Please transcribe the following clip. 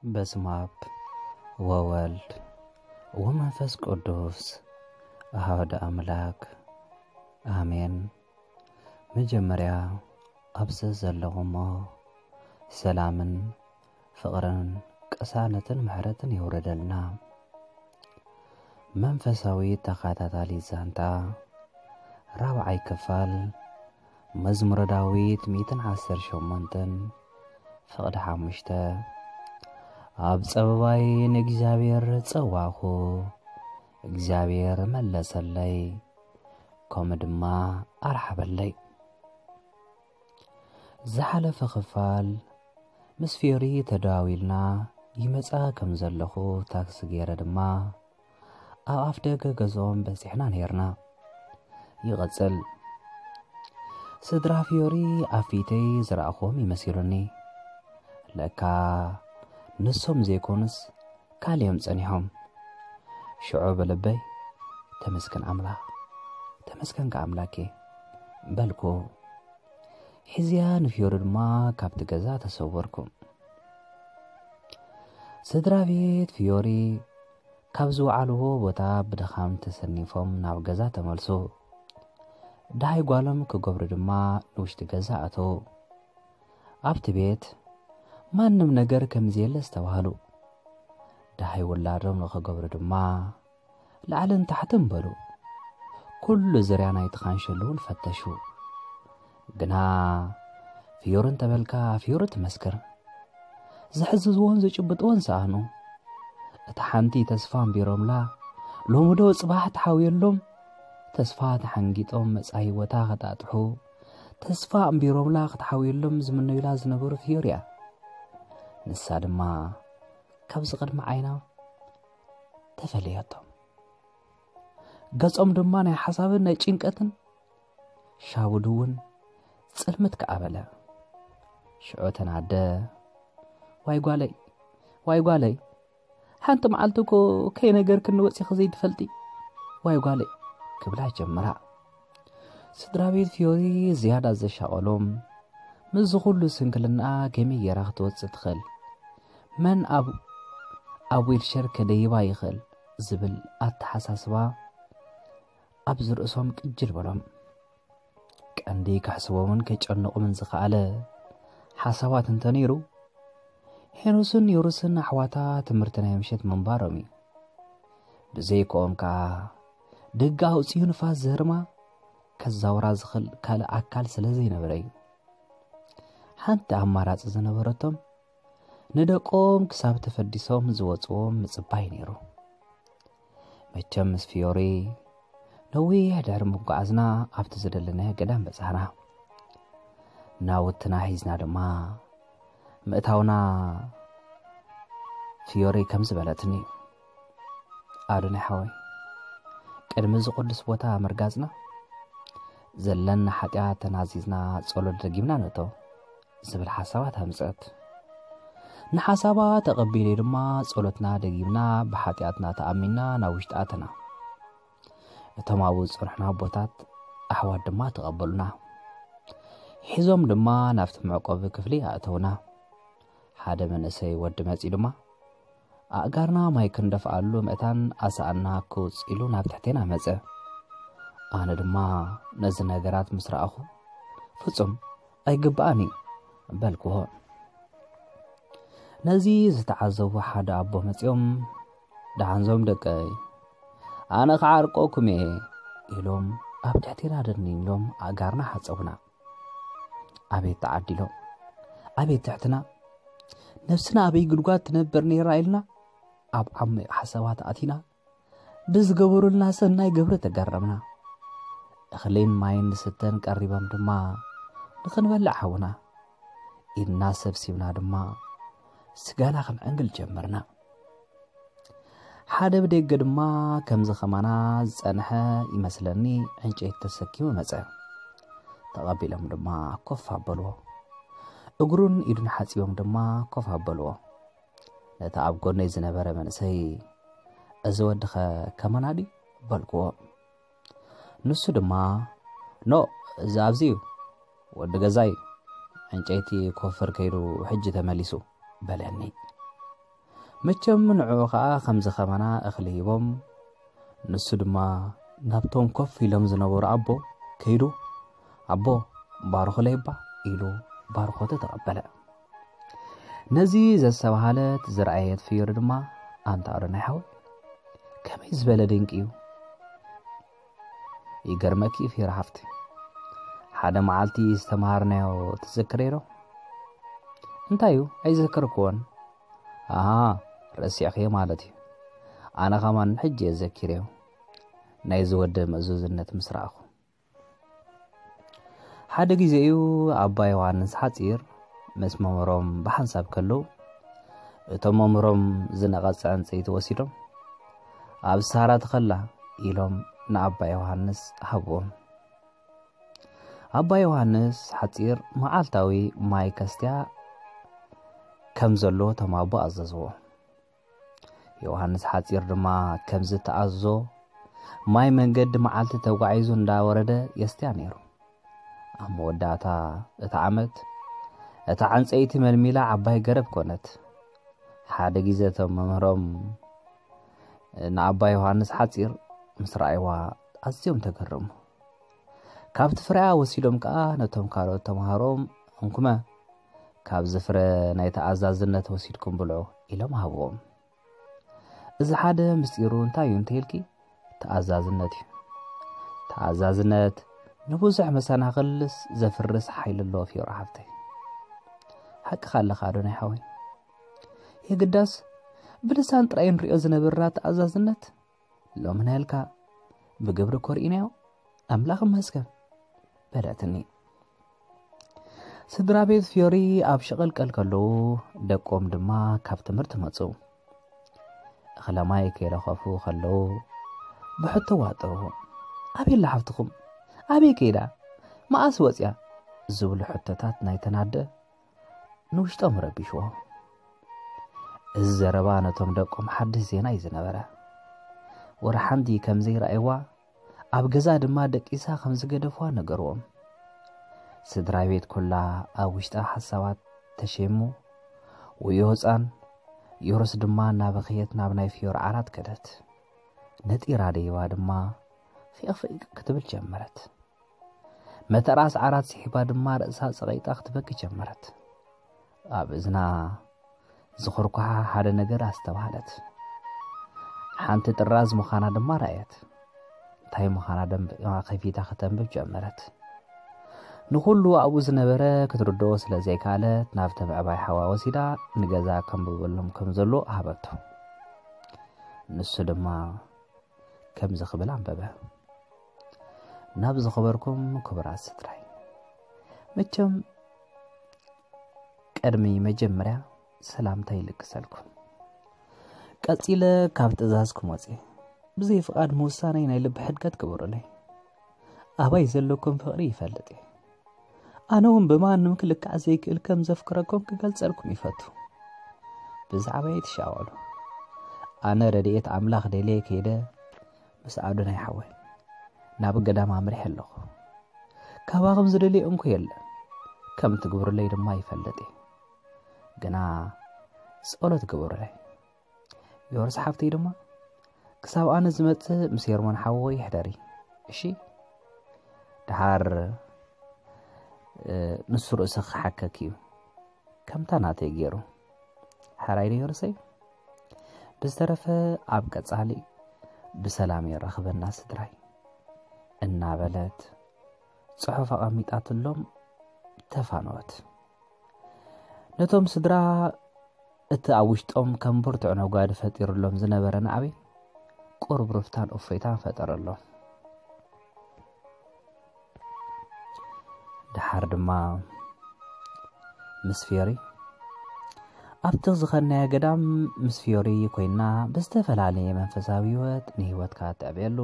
በስመ አብ ወወልድ ወመንፈስ ቅዱስ አሐዱ አምላክ አሜን። መጀመርያ ኣብዚ ዘለኹሞ ሰላምን ፍቕርን ቅሳነትን ምሕረትን የውረደልና። መንፈሳዊ ተኸታታሊ ዛንታ ራብዓይ ክፋል መዝሙረ ዳዊት ሚእትን ዓሰርተ ሸሞንተን ፍቕዲ ሓሙሽተ። ኣብ ጸበባይ ንእግዚኣብሔር ጸዋኹ፣ እግዚኣብሔር መለሰለይ፣ ከምኡ ድማ ኣርሓበለይ። ዝሓለፈ ክፋል ምስ ፊዮሪ ተደዋዊልና ይመጻ ከም ዘለኹ ታክሲ ገይረ ድማ ኣብ ኣፍ ደገ ገዝኦም በጺሕና ነይርና። ይቐጽል። ስድራ ፊዮሪ ኣብ ፊተይ ዝረኣኹዎም ይመሲሉኒ። ለካ ንሶም ዘይኮኑስ ካልዮም ጸኒሖም። ሽዑ ብልበይ፣ "ተመስገን ኣምላኽ፣ ተመስገንካ ኣምላኬ" በልኩ። ሒዝያ ንፊዮሪ ድማ ካብቲ ገዛ ተሰወርኩ። ስድራ ቤት ፊዮሪ ካብ ዝወዓልዎ ቦታ ብድኻም ተሰኒፎም ናብ ገዛ ተመልሱ። ደሃይ ጓሎም ክገብሩ ድማ ንውሽጢ ገዛ ኣተዉ። ኣብቲ ቤት ማንም ነገር ከም ዘየለ ዝተባህሉ። ደሃይ ውላዶም ንኽገብሩ ድማ ላዕልን ታሕትን በሉ። ኩሉ ዙርያ ናይቲ ካንሸሎ እውን ፈተሹ። ግና ፊዮሪ እንተበልካ ፊዮሪ ትመስክር። ዝሕዝዝዎን ዝጭብጥዎን ሰኣኑ። እታ ሓንቲ ተስፋ ኣንቢሮምላ፣ ሎሚ ዶ ጽባሕ ትሓውየሎም? ተስፋ ተሓንጊጦም መጻኢ ህይወታ ከጣጥሑ፣ ተስፋ ኣንቢሮምላ ክትሓውየሎም ዝምነዩላ ዝነበሩ ፊዮሪ እያ። ንሳ ድማ ካብዚ ቅድሚ ዓይና ተፈለየቶም። ገጾም ድማ ናይ ሓሳብን ናይ ጭንቀትን፣ ሻውዱ እውን ጽልምት ከኣ በለ። ሽዑ ተናደ፣ "ዋይ ጓለይ፣ ዋይ ጓለይ፣ ሓንቲ መዓልቲ እኮ ከይነገርክኒ ወጺኺ ዘይትፈልጢ፣ ዋይ ጓለይ" ክብላ ጀመራ። ስድራ ቤት ፊዮሪ ዝያዳ ዘሻቐሎም፣ ምስዚ ኩሉ ስንክልናኣ ከመይ ጌራ ክትወጽእ ትኽእል? መን ኣብ፣ ኣብ ዊልሸር ከደይባ ይኽእል ዝብል ኣተሓሳስባ ኣብዚ ርእሶም ቅጅል በሎም። ቀንዲ ከሕስቦምን ከጨንቑምን ዝኸኣለ ሓሳባት እንተነይሩ፣ ሄኖስን ዮርስን ኣሕዋታ ትምህርቲ ናይ ምሸት ምንባሮም እዩ። ብዘይክኦም ከኣ ደገ ኣውጺኡ ንፋስ ዝህርማ ከዛውራ ዝኽእል ካልእ ኣካል ስለ ዘይነበረ እዩ። ሓንቲ ኣማራጺ ዝነበረቶም ንደቆም ክሳብ ተፈዲሶም ዝወጽዎም ምጽባይ ነይሩ። መቸም ምስ ፊዮሪ ነዊሕ ድሕሪ ምጉዓዝና ኣብቲ ዝደለናዮ ገዳም በጻሕና። ናውትና ሒዝና ድማ ምእታውና ፊዮሪ ከምዚ በለትኒ፣ "ኣዶናይ ሓወይ፣ ቅድሚ እዚ ቅዱስ ቦታ ምርጋጽና ዘለና ሓጢኣት ተናዚዝና ጸሎት ደጊምና ንእቶ" ዝብል ሓሳባት ኣምጸት። ንሓሳባ ተቐቢለ ድማ ጸሎትና ደጊምና ብሓጢኣትና ተኣሚንና ናብ ውሽጢ ኣተና። እቶም ኣብኡ ዝጸንሑና ኣቦታት ኣሕዋት ድማ ተቐበሉና። ሒዞም ድማ ናብቲ መዕቆቢ ክፍሊ ኣእተውና። ሓደ መንእሰይ ወዲ መጺኡ ድማ ኣእጋርና ማይ ክንደፍኣሉ ምእታን ኣሰኣና ክውጽ ኢሉ ናብ ትሕቴና መጸ። ኣነ ድማ ነዚ ነገራት ምስ ረኣኹ፣ "ፍጹም ኣይግብኣን እዩ" በልክዎ። ነዚ ዝተዓዘቡ ሓደ ኣቦ መጺኦም፣ "ደሓንዞም ደቀይ፣ ኣነ ክዓርቀኩም እየ" ኢሎም ኣብ ትሕቴና ደኒኖም ኣእጋርና ሓጸቡና። ኣቤት ተዓዲሎም፣ ኣቤት ትሕትና! ነብስና ኣበይ ጉድጓድ ትነብር ነይራ ኢልና ኣብ ዓሚቕ ሓሳባት ኣቲና፣ ብዝገበሩልና ሰናይ ግብሪ ተገረምና። እኽልን ማይን ንስተን ቀሪቦም ድማ፣ "ንኽንበልዕ ሓውና" ኢልና ሰብሲብና ድማ ስጋና ክንዕንግል ጀመርና። ሓደ ብደገ ድማ ከምዚ ከማና ዝጸንሐ ይመስለኒ ዕንጨይቲ ተሰኪሙ መጸ። ተቐቢሎም ድማ ኮፍ ኣበልዎ። እግሩን ኢዱን ሓጺቦም ድማ ኮፍ ኣበልዎ። ነቲ ኣብ ጎነይ ዝነበረ መንእሰይ፣ "እዚ ወድኸ ከማና ድዩ?" በልክዎ። ንሱ ድማ፣ "ኖ፣ እዚ ኣብዚ እዩ፣ ወዲ ገዛይ፣ ዕንጨይቲ ክወፍር ከይዱ ሕጂ ተመሊሱ" በለኒ። መቸም ንዕኡ ኸኣ ከምዚ ኸማና እኽሊ ሂቦም፣ ንሱ ድማ ናብቶም ኮፍ ኢሎም ዝነበሩ ኣቦ ከይዱ፣ "ኣቦ፣ ባርኹለይ እባ" ኢሉ ባርኾቱ ተቐበለ። ነዚ ዘስተባሃለት ዝረኣየት ፍዮሪ ድማ፣ "ኣንታ ኣዶናይ ሓወይ፣ ከመይ ዝበለ ድንቂ እዩ!" "ይገርመኪ ፍዮሪ ሓፍቲ፣ ሓደ መዓልቲ ዝተምሃርናዮ ትዝክረዮ ዶ?" "እንታይ እዩ? ኣይዘከርክዎን።" "ኣሃ፣ ረሲዕኽዮ ማለት እዩ። ኣነ ኸማን ሕጂ እየ ዘኪረዮ፣ ናይዚ ወዲ ምእዙዝነት ምስ ረኣኹ። ሓደ ግዜ እዩ ኣባ ዮሃንስ ሓጺር ምስ መምህሮም ብሓንሳብ ከለዉ፣ እቶም መምህሮም ዝነቐጸ ዕንጸይቲ ወሲዶም፣ 'ኣብ ሳራ ትኸላ' ኢሎም ንኣባ ዮሃንስ ሃብዎም። ኣባ ዮሃንስ ሓጺር መዓልታዊ ማይ ከስትያ ከም ዘለዎ እቶም ኣቦ ኣዘዝዎ። ዮሃንስ ሓጺር ድማ ከምዚ ተኣዝዞ፣ ማይ መንገዲ መዓልቲ ተጓዒዙ እንዳወረደ የስትያ ነይሩ። ኣብ መወዳእታ እቲ ዓመት፣ እታ ዕንጸይቲ መልሚላ ዓባይ ገረብ ኮነት። ሓደ ግዜ እቶም መምህሮም ንኣባ ዮሃንስ ሓጺር ምስ ረኣይዋ ኣዝዮም ተገረሙ። ካብቲ ፍረኣ ወሲዶም ከኣ ነቶም ካልኦት ተምሃሮም፣ "እንኩመ፣ ካብዚ ፍረ ናይ ተኣዛዝነት ወሲድኩም ብልዑ" ኢሎም ሃብዎም። እዚ ሓደ ምስጢሩ እንታይ እዩ እንተኢልኪ፣ ተኣዛዝነት እዩ። ተኣዛዝነት ንብዙሕ መሰናኽልስ ዘፍርስ ሓይሊ ኣለዎ ፍዮሪ ሓፍተይ። ሓቅኻ ኣለኻ ኣዶናይ ሓወይ። የግዳስ ብልሳን ጥራይ ንሪኦ ዝነበርና ተኣዛዝነት ሎሚ ናይልካ ብግብሪ ኮርኢናዮ። ኣምላኽ ይመስገን በለትኒ። ስድራ ቤት ፍዮሪ ኣብ ሽቕልቀል ከለዉ፣ ደቆም ድማ ካብ ትምህርቲ መጹ። እኽለ ማይ ከይረኸፉ ከለዉ፣ ብሕቶ ዋጥርዎ። "ኣበይ ኣላ ሓፍትኹም? ኣበይ ከይዳ? መኣስ ወጽያ?" ዝብሉ ሕቶታት ናይ ተናደ ንውሽጦም ረቢሽዎ። እዚ ዘረባ ነቶም ደቆም ሓድሽ ዜና እዩ ዝነበረ። ወረ ሓንቲ ከም ዘይረኣይዋ፣ ኣብ ገዛ ድማ ደቂሳ ከም ዝገደፍዋ ነገርዎም። ስድራ ቤት ኩላ ኣብ ውሽጣ ሓሳባት ተሸይሙ፣ ወዮ ህጻን፣ ዮርስ ድማ እናበኸየት ናብ ናይ ፍዮሪ ዓራት ከደት። ነጢራ ደይባ ድማ ፊቕ ፊቕ ክትብል ጀመረት። መተራስ ዓራት ስሒባ ድማ ርእሳ ጸቒጣ ክትበኪ ጀመረት። ኣብ እዝና ዝኹርኳሓ ሓደ ነገር ኣስተባህለት። ሓንቲ ጥራዝ ምዃና ድማ ረኣየት። እንታይ ምዃና ደንቢራ ከፊታ ከተንብብ ጀመረት። ንኹሉ ኣብኡ ዝነበረ ክትርድኦ ስለ ዘይከኣለት፣ ናብቲ ምዕባይ ሓዋ ወሲዳ ንገዛ ከንብበሎም ከም ዘሎ ሃበቶ። ንሱ ድማ ከምዚ ክብል ኣንበበ። ናብ ዝኸበርኩም ክቡራት ስድራይ፣ መቸም ቅድሚ መጀመርያ ሰላምታ ይልግሰልኩም። ቀጺለ ካብ ትእዛዝኩም ወጺኤ ብዘይ ፍቓድ ምውሳነይ ናይ ልቢ ሕድገት ግበሩለይ። ኣባይ ዘለኩም ፍቕሪ ይፈልጥ እየ። ኣነ እውን ብማንም ክልካዕ ዘይክእል ከም ዘፍቅረኩም ክገልጸልኩም ይፈቱ። ብዛዕባይ ኣይትሻቐሉ። ኣነ ረድኤት ኣምላኽ ደልየ ከይደ ምስ ኣዶናይ ሓወይ ናብ ገዳም ኣምሪሐ ኣለኹ። ካባኹም ዝደልየ እንኮ የለን። ከም ትግብሩለይ ድማ ይፈልጥ እየ። ግና ጸሎት ግበሩለይ። ዮርስ ሓፍተይ ድማ ክሳብ ኣነ ዝመጽእ ምስ ሄርሞን ሓወይ ይሕደሪ። እሺ? ደሓር፣ እ፣ ንሱ ርእሱ ክሓከክ እዩ። ከምታ ናተይ ገይሩ። ሓራይ ዶ ዮርሰይ? ብዝተረፈ ኣብ ቀጻሊ ብሰላም የራኽበና ስድራይ። እናበለት ጽሑፍ ኣቐሚጣትሎም ተፋነወት። ነቶም ስድራ እቲ ኣብ ውሽጦም ከም ብርቱዕ ነጓዲ ፈጢሩሎም ዝነበረ ናዕቢ ቁርብርብታን እፎይታን ፈጠረሎም። ደሓር ድማ ምስ ፍዮሪ ኣብቲ ዝኸድናዮ ገዳም ምስ ፍዮሪ ኮይና ብዝተፈላለየ መንፈሳዊ ህይወት ንህይወትካ ትዕብየሉ፣